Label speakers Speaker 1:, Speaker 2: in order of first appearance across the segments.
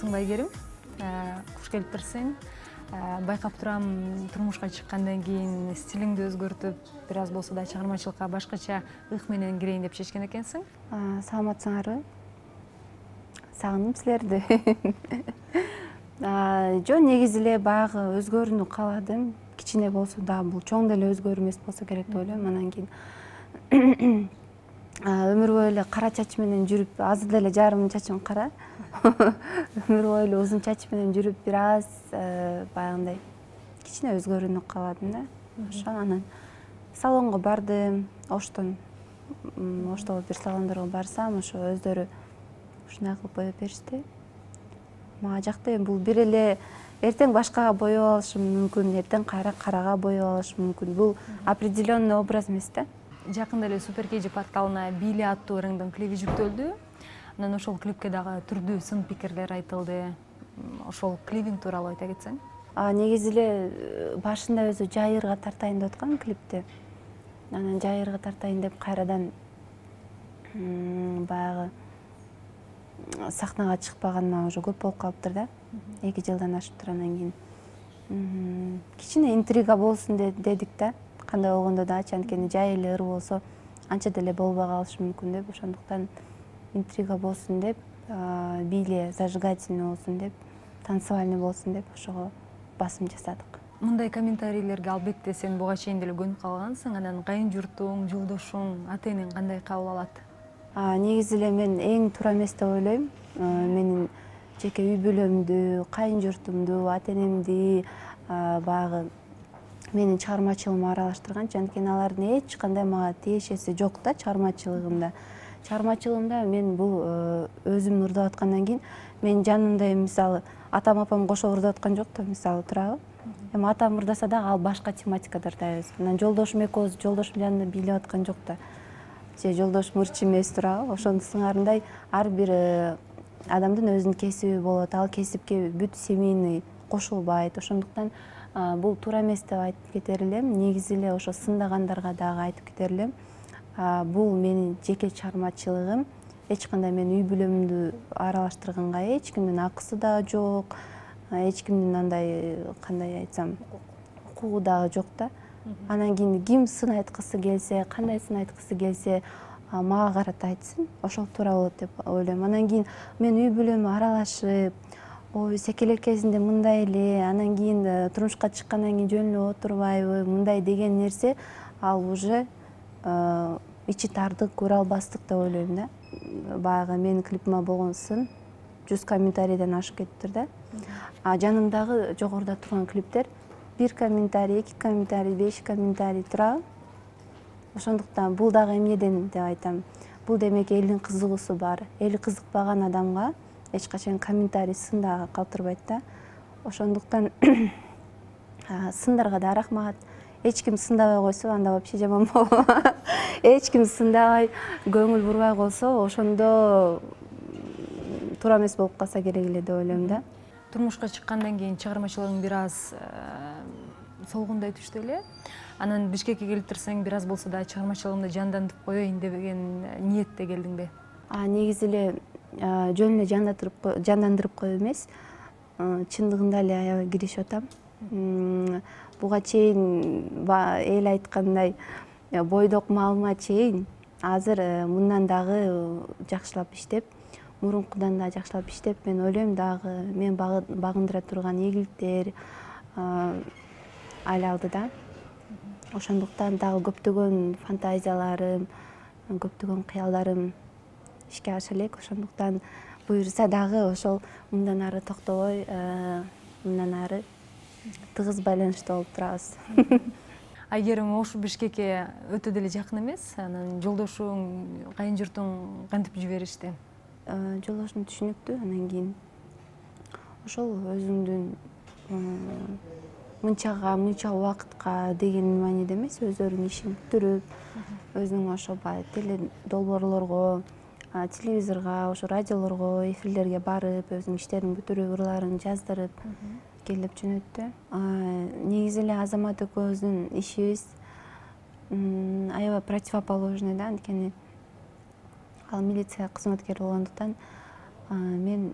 Speaker 1: саламатсыңбы Айгерим? Куш келиптирсиң. Байкап турам, турмушка чыккандан кийин стилиңди өзгөртүп, бир аз болсо да чыгармачылыкка башкача ых менен кирейин деп чечкен экенсиң.
Speaker 2: Саламатсыңарбы? Сагындым силерди. Жо негизи эле баягы өзгөрүүнү кааладым. Кичине болсо да бул чоң деле өзгөрүү эмес болсо керек деп ойлойм. Анан кийин өмүр бою эле кара чач менен жүрүп, азыр деле жарым чачым кара. Өмүр бою эле узун чач менен жүрүп, бир аз баягындай кичине өзгөрүүнү кааладым да. Ошо анан салонго бардым. Оштон бир салондорго барсам, ошо өздөрү ушундай кылып боеп беришти. Мага жакты. Бул бир эле эртең башкага боеп алышым мүмкүн, эртең кайра карага боеп алышым мүмкүн. Бул определенный образ эмес да.
Speaker 1: Жакында эле Супер KG порталына Били аттуу ырыңдын клиби жүктөлдү. Анан ошол клипке дагы түрдүү сын пикирлер айтылды. Ошол клибиң тууралуу айта кетсең?
Speaker 2: Негизи эле башында өзү жайырга тартайын деп аткам клипти. Анан жайырга тартайын деп кайрадан баягы сахнага чыкпаганыма уже көп болуп калыптыр да. 2 жылдан ашыптыр. Анан кийин кичине интрига болсун дедик да. Кандай болгондо дагычы, анткени жай эле ыр болсо анча деле болбой калышы мүмкүн деп, ошондуктан интрига болсун деп, Били зажигательный болсун деп, танцевальный болсун деп ошого басым жасадык.
Speaker 1: Мындай комментарийлерге албетте сен буга чейин деле көнүп калгансың. Анан кайын журтуң, жолдошуң, ата-энең кандай кабыл алат?
Speaker 2: Негизи эле мен эң туура эмес деп ойлойм. Менин жеке үй бүлөмдү, кайын журтумду, ата-энемди баягы менин чыгармачылыгыма аралаштырганчы, анткени алардын эч кандай мага тиешеси жок да чыгармачылыгымда. Чыгармачылыгымда мен бул өзүм ырдап аткандан кийин менин жанымда мисалы атам апам кошо ырдап аткан жок да, мисалы туурабы. Эми атам ырдаса дагы ал башка тематикада ырдайбыз. Анан жолдошум экөөбүз жолдошум жанында бийлеп аткан жок да. Же жолдошум ырчы эмес туурабы. Ошонун сыңарындай ар бир адамдын өзүнүн кесиби болот. Ал кесипке бүт семейный кошулбайт. Ошондуктан бул туура эмес деп айтып кетер элем. Негизи эле ошо сындагандарга дагы айтып кетер элем. Бул менин жеке чыгармачылыгым. Эч кандай мен үй бүлөмдү аралаштырганга эч кимдин акысы дагы жок. Эч кимдин андай кандай айтсам укугу дагы жок да. Анан кийин ким сын айткысы келсе, кандай сын айткысы келсе, мага карата айтсын. Ошол туура болот деп ойлойм. Анан кийин мен үй бүлөмө аралашып, ой секелек кезинде мындай эле, анан кийин турмушка чыккандан кийин жөн эле отурбайбы, мындай деген нерсе ал уже ичи тардык, көрө албастык деп ойлойм да. Баягы менин клипиме болгон сын 100 комментарийден ашып кетиптир да. Жанымдагы жогоруда турган клиптер 1 комментарий, 2 комментарий, 5 комментарий турабы. Ошондуктан бул дагы эмнеден деп айтам. Бул демек элдин кызыгуусу бар. Эли кызыкпаган адамга эч качан комментарий сын дагы калтырбайт да. Ошондуктан сындарга да рахмат. Эч ким сындабай койсо анда вообще жаман болот. Эч ким сындабай, көңүл бурбай койсо, ошондо туура эмес болуп калса керек эле деп ойлойм да.
Speaker 1: Турмушка чыккандан кийин чыгармачылыгың бир аз солгундай түштү эле. Анан Бишкекке келиптирсең, бир аз болсо да чыгармачылыгымды жандандырып коеюн деген ниетте келдиңби?
Speaker 2: Негизи эле жөн эле жандандырып коюу эмес, чындыгында эле аябай киришип атам. Буга чейин эл айткандай бойдок маалыма чейин азыр мындан дагы жакшылап иштеп, мурункудан да жакшылап иштеп, мен ойлойм дагы мен багындыра турган ийгиликтер али алдыда. Ошондуктан дагы көптөгөн фантазияларым, көптөгөн кыялдарым ишке аша элек. Ошондуктан буюрса дагы ошол мындан ары токтобой, мындан ары тыгыз байланышта болуп турабыз.
Speaker 1: Айгерим Ош Бишкекке өтө деле жакын эмес. Анан жолдошуң, кайын журтуң кантип жиберишти?
Speaker 2: Жолдошум түшүнүктүү. Анан кийин ошол өзүңдүн мынча убакытка деген мааниде эмес, өздөрүнүн ишин бүтүрүп, өзүнүн ошо долбоорлорго, телевизорго, ошо радиолорго, эфирлерге барып, өзүнүн иштерин бүтүрүп, ырларын жаздырып келип жөнөттү. Негизи эле Азамат экөөбүздүн ишибиз аябай противоположный да, анткени ал милиция кызматкери болгондуктан мен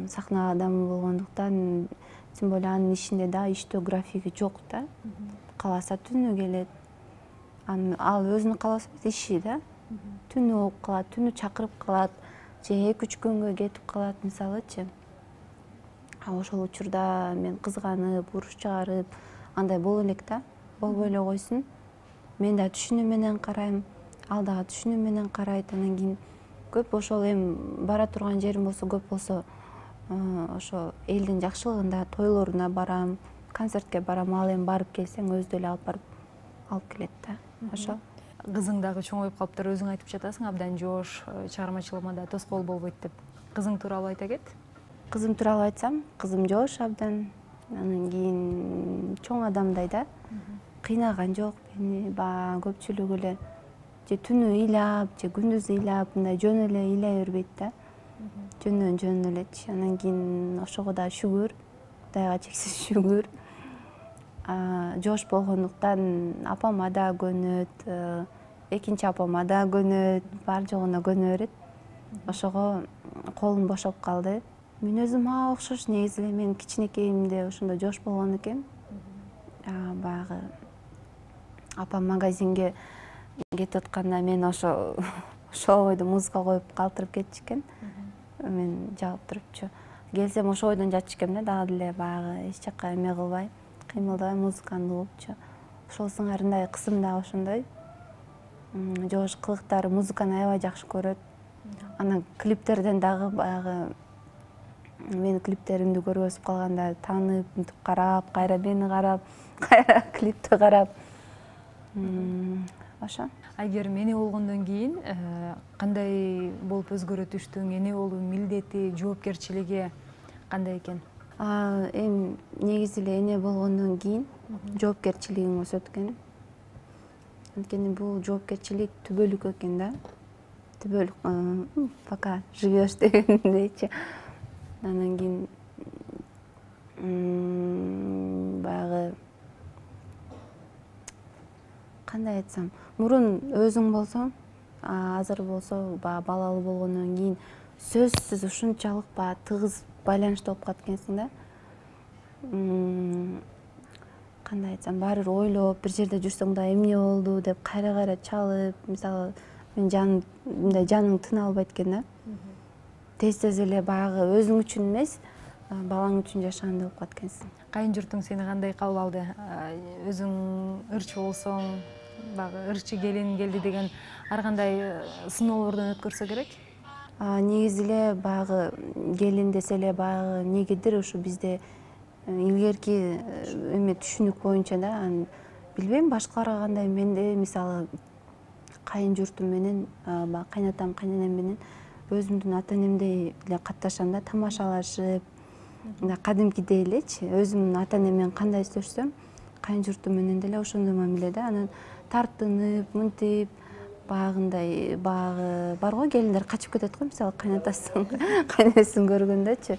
Speaker 2: сахна адамы болгондуктан, тем более анын ишинде да иштөө графиги жок да. Кааласа түнү келет. Ал өзүнүн кааласа иши да. Түнү болуп калат, түнү чакырып калат, же 2-3 күнгө кетип калат мисалычы. Ошол учурда мен кызганып, уруш чыгарып, андай боло элек да. Болбой эле койсун. Мен да түшүнүү менен карайм, ал дагы түшүнүү менен карайт. Анан кийин көп ошол эми бара турган жерим болсо көп болсо ошо элдин жакшылыгында тойлоруна барам, концертке барам. Ал эми барып келсең өзү эле алып келет да. Ошо.
Speaker 1: Кызың дагы чоңоюп калыптыр, өзүң айтып жатасың, абдан жоош, чыгармачылыгыма да тоскоол болбойт деп. Кызың тууралуу айта кет.
Speaker 2: Кызым тууралуу айтсам, кызым жоош абдан. Анан кийин чоң адамдай да. Кыйнаган жок мени, баягы көпчүлүгү эле же түнү ыйлап, же күндүз ыйлап, мындай жөн эле ыйлай бербейт да. Жөн элечи. Анан кийин ошого да шүгүр, Кудайга чексиз шүгүр. Жоош болгондуктан апама да көнөт, экинчи апама да көнөт, бар жогуна көнө берет. Ошого колум бошоп калды. Мен өзүм окшош негизи эле, мен кичинекейимде ошондой жоош болгон экем. Баягы апам магазинге кетип атканда мен ошол бойдо музыка коюп калтырып кетчү экен. Мен жагып турупчу. Келсем ошол бойдон жатчу экен да, дагы деле баягы эч жакка эме кылбай, кыймылдабай музыканы угупчу. Ошол сыңарындай кызым да ошондой. Жоош кылыктары, музыканы аябай жакшы көрөт. Анан клиптерден дагы баягы менин клиптеримди көрүп өсүп калганда таанып, мынтип карап, кайра мени карап, кайра клипти карап. Ошо.
Speaker 1: Эгер эне болгондон кийин кандай болуп өзгөрөт иштөөң, эне болуу милдети, жоопкерчилиги кандай экен?
Speaker 2: Эми негизи эле эне болгондон кийин жоопкерчилигиң өсөт экен. Анткени бул жоопкерчилик түбөлүк экен да. Түбөлүк, пока живешь дегендейчи. Анан кийин баягы кандай айтсам, мурун өзүң болсоң, азыр болсо баягы балалуу болгондон кийин сөзсүз ушунчалык баягы тыгыз байланышта болуп калат экенсиң да. Кандай айтсам, баары бир ойлоп, бир жерде жүрсөң да эмне болду деп кайра чалып, мисалы мен мындай жаның тына албайт экен да. Тез эле баягы өзүң үчүн эмес, балаң үчүн жашагандай болуп калат экенсиң.
Speaker 1: Кайын журтуң сени кандай кабыл алды? Өзүң ырчы болсоң, баягы ырчы келин келди деген ар кандай сыноолордон өткөрсө керек?
Speaker 2: Негизи эле баягы келин десе эле баягы эмнегедир ушу бизде илгерки эме түшүнүк боюнча да, билбейм башкаларга кандай, менде мисалы кайын журтум менен, баягы кайнатам, кайненем менен өзүмдүн ата энемдей эле катташам да, тамашалашып, кадимкидей элечи. Өзүмдүн ата энем менен кандай иштешсөм, кайын журтум менен деле ошондой мамиле да. Анан тартынып, мынтип, баягындай, баягы бар го келиндер качып кетет го, мисалы кайнатасын, кайненесин көргөндөчү.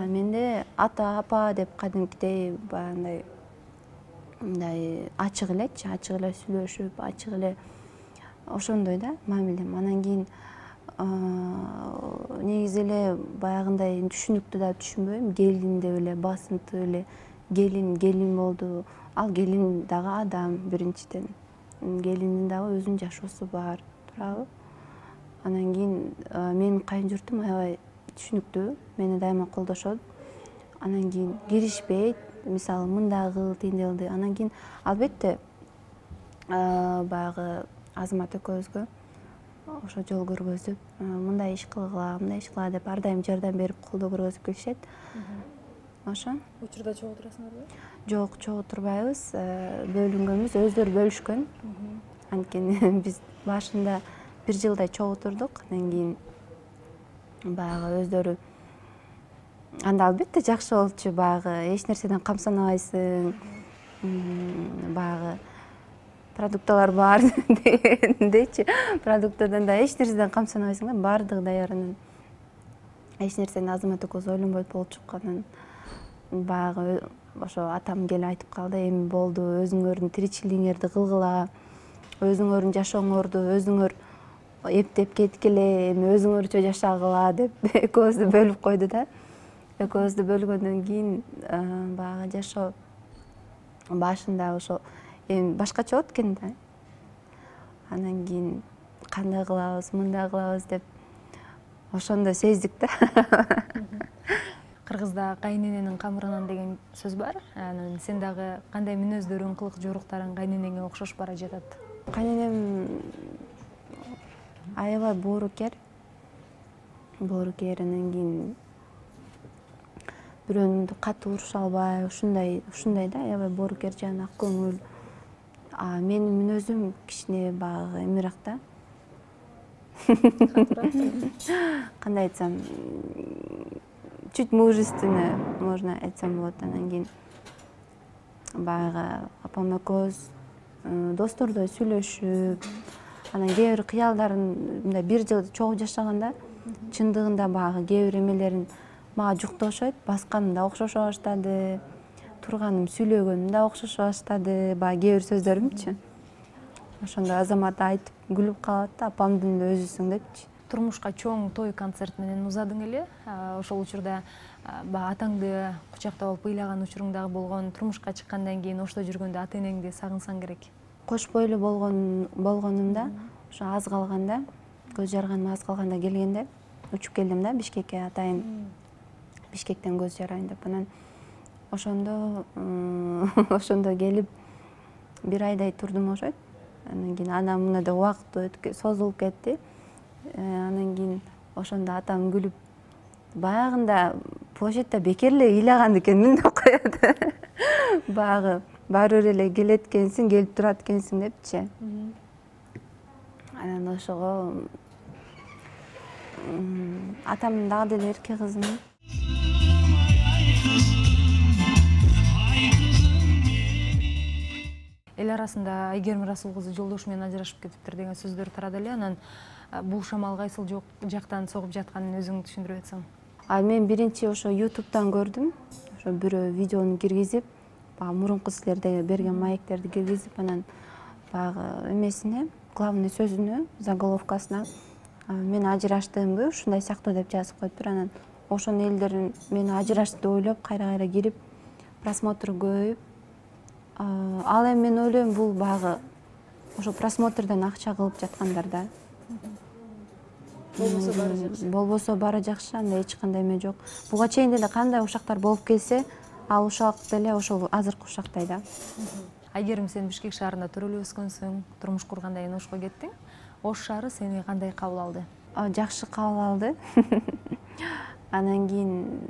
Speaker 2: Менде ата, апа деп кадимкидей баягындай мындай ачык элечи, ачык эле сүйлөшүп, ачык эле ошондой да мамилем. Анан кийин негизи эле баягындай түшүнүктү да түшүнбөйм. Келин деп эле басынтып эле келин болду. Ал келин дагы адам биринчиден. Келиндин дагы өзүнүн жашоосу бар, туурабы? Анан кийин менин кайын журтум аябай түшүнүктүү, мени дайыма колдошот. Анан кийин киришпейт, мисалы мындай кыл, тигиндей кыл деп. Анан кийин албетте баягы Азамат экөөбүзгө ошо жол көргөзүп, мындай иш кылгыла, мындай иш кыла деп ар дайым жардам берип, колдоо көргөзүп келишет. Ошо.
Speaker 1: Учурда чогуу турасыңарбы?
Speaker 2: Жок, чогуу турбайбыз. Бөлүнгөнбүз, өздөрү бөлүшкөн. Анткени биз башында 1 жылдай чогуу турдук. Анан кийин баягы өздөрү, анда албетте жакшы болчу, баягы эч нерседен камсанабайсың, баягы продукталар бар дегендейчи. Продуктадан да эч нерседен камсанабайсың да, баардыгы даяр. Анан эч нерсени Азамат экөөбүз ойлонбойт болчук. Анан баягы ошо атам келип айтып калды, эми болду, өзүңөрдүн тиричилигиңерди кылгыла, өзүңөрдүн жашооңорду өзүңөр эптеп кеткиле, эми өзүңөрчө жашагыла деп экөөбүздү бөлүп койду да. экөөбүздү бөлгөндөн кийин баягы жашоо башында ошо эми башкача болот экен да. Анан кийин кандай кылабыз, мындай кылабыз деп ошондо сездик да.
Speaker 1: Кыргызда кайнененин камырынан деген сөз бар. Анан сен дагы кандай мүнөздөрүң, кылык жоруктарың кайненеңе окшош бара жатат?
Speaker 2: Кайненем аябай боорукер. Анан кийин бирөөнү катуу уруша албай, ушундай да, аябай боорукер жана ак көңүл. Менин мүнөзүм кичине баягы эмирээк да. Кандай айтсам, чуть мужественный, можно айтсам болот. Анан кийин баягы апам экөөбүз достордой сүйлөшүп, анан кээ бир кыялдарын мындай бир жыл чогуу жашаганда чындыгында баягы кээ бир эмелерин мага жуктошойт, басканым да окшошо баштады, турганым, сүйлөгөнүм да окшошо баштады, баягы кээ бир сөздөрүмчү. Ошондо Азамат айтып күлүп калат да, апамдын да өзүсүң депчи.
Speaker 1: Турмушка чоң той концерт менен узадың эле. Ошол учурда баягы атаңды кучактап алып ыйлаган учуруң дагы болгон. Турмушка чыккандан кийин ошто жүргөндө ата энеңди сагынсаң керек.
Speaker 2: Кош бойлуу болгонумда, ошо аз калганда, көз жарганым аз калганда келгенде, учуп келдим да Бишкекке, атайын Бишкектен көз жарайын деп. Анан ошондо келип бир айдай турдум ошойт. Анан кийин анан мына да убакыт созулуп кетти. Анан кийин ошондо атам күлүп, баягында площадьда бекер эле ыйлаган экенмин деп коет. Баягы баары бир эле келет экенсиң, келип турат экенсиң депчи. Анан ошого атам дагы деле эрке кызым.
Speaker 1: Эл арасында Айгерим Расул кызы жолдошу менен ажырашып кетиптир деген сөздөр тарады эле. Анан бул шамал кайсыл жактан согуп жатканын өзүң түшүндүрүп атсаң.
Speaker 2: Мен биринчи ошо YouTube'дан көрдүм. Ошо бирөө видеону киргизип, баягы мурунку силерде берген маектерди киргизип, анан баягы эмесине, главный сөзүнө, заголовкасына мен ажыраштымбы, ушундай сыяктуу деп жазып коюптур. Анан ошонун элдерин мени ажырашты деп ойлоп, кайра кирип, просмотр көбөйүп, ал эми мен ойлойм бул баягы ошо просмотрдон акча кылып жаткандар да. Болбосо баары жакшы, анда эч кандай эме жок. Буга чейин деле кандай ушактар болуп келсе, ал ушак деле ошол азыркы ушактай да.
Speaker 1: Айгерим, сен Бишкек шаарында төрөлүп өскөнсүң, турмуш кургандан кийин Ошко кеттиң. Ош шаары сени кандай кабыл алды?
Speaker 2: Жакшы кабыл алды. Анан кийин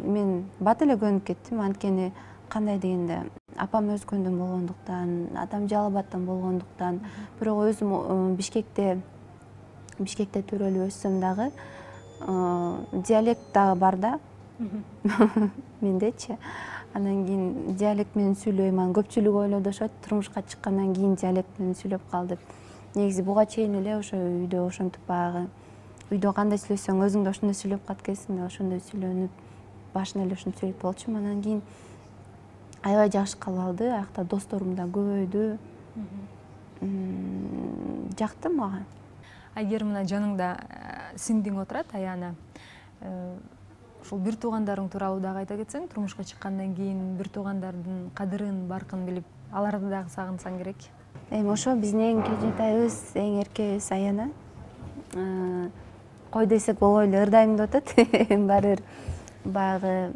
Speaker 2: мен бат эле көнүп кеттим, анткени кандай дегенде апам өскөндөн болгондуктан, атам Жалал Абадтан болгондуктан, бирок өзүм Бишкекте төрөлүп өссөм дагы диалект дагы бар да. Мендечи. Анан кийин диалект менен сүйлөйм, анан көпчүлүк ойлодушот, турмушка чыккандан кийин диалект менен сүйлөп калды. Негизи буга чейин эле ошо үйдө ошентип баягы үйдө кандай сүйлөсөң өзүң да ошондой сүйлөп калат экенсиң да, ошондой сүйлөнүп башында эле ошентип сүйлөп болчумун. Анан кийин аябай жакшы кабыл алды, аякта досторум да көбөйдү. Жакты мага.
Speaker 1: Айгерим, мына жаныңда сиңдиң отурат, Аяна. Ушул бир туугандарың тууралуу дагы айта кетсең, турмушка чыккандан кийин бир туугандардын кадырын, баркын билип, аларды дагы сагынсаң керек.
Speaker 2: Эми ошо биздин эң кенжетайыбыз, эң эркебиз Аяна. Кой десек болбой эле ырдайм деп атат. Баары бир баягы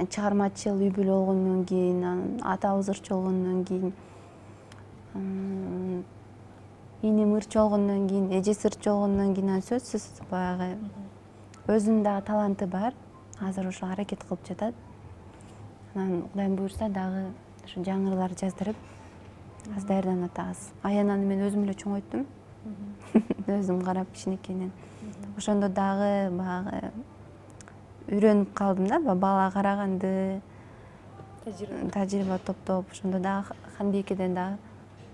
Speaker 2: чыгармачыл үй бүлө болгондон кийин, атабыз ырчы болгондон кийин, иним ырчы болгондон кийин, эжеси ырчы болгондон кийин сөзсүз баягы өзүнүн дагы таланты бар. Азыр ошо аракет кылып жатат. Анан Кудайым буйрса дагы ошо жаңырылар жаздырып, аз даярданып атабыз. Аянаны мен өзүм эле чоңойттум. Өзүм карап кичинекейинен. Ошондо дагы баягы үйрөнүп калдым да, бала караганды, тажрыйба топтоп, ошондо дагы Ханбикеден дагы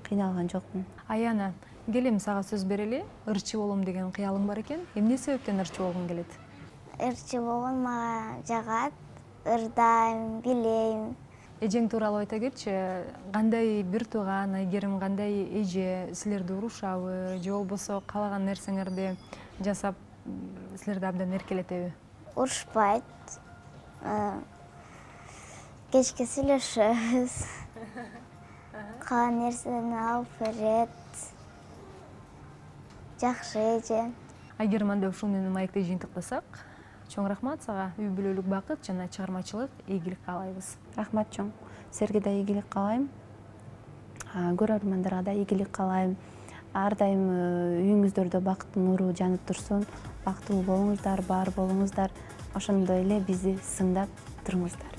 Speaker 2: кыйналган жокмун.
Speaker 1: Аяна, келем сага сөз берели. Ырчы болом деген кыялың бар экен. Эмне себептен ырчы болгуң келет?
Speaker 3: Ырчы болгон мага жагат, ырдайм, билейм.
Speaker 1: Эжең тууралуу айта кетчи. Кандай бир тууган, Айгерим кандай эже, силерди урушабы, же болбосо каалаган нерсеңерди жасап силерди абдан эркелетеби?
Speaker 3: Урушпайт, кечке сүйлөшөбүз. Калган нерсени алып берет. Жакшы эже.
Speaker 1: Айгерим ушул менен маекти жыйынтыктасак, чоң рахмат сага. Үй бүлөлүк бакыт жана чыгармачылык ийгилик каалайбыз.
Speaker 2: Рахмат чоң. Силерге да ийгилик каалайм. Көрөрмандарга да ийгилик каалайм. Ар дайым үйүңүздөрдө бакыттын нуру жанып турсун. Бактылуу болуңуздар, бар болуңуздар. Ошондой эле бизди сындап туруңуздар.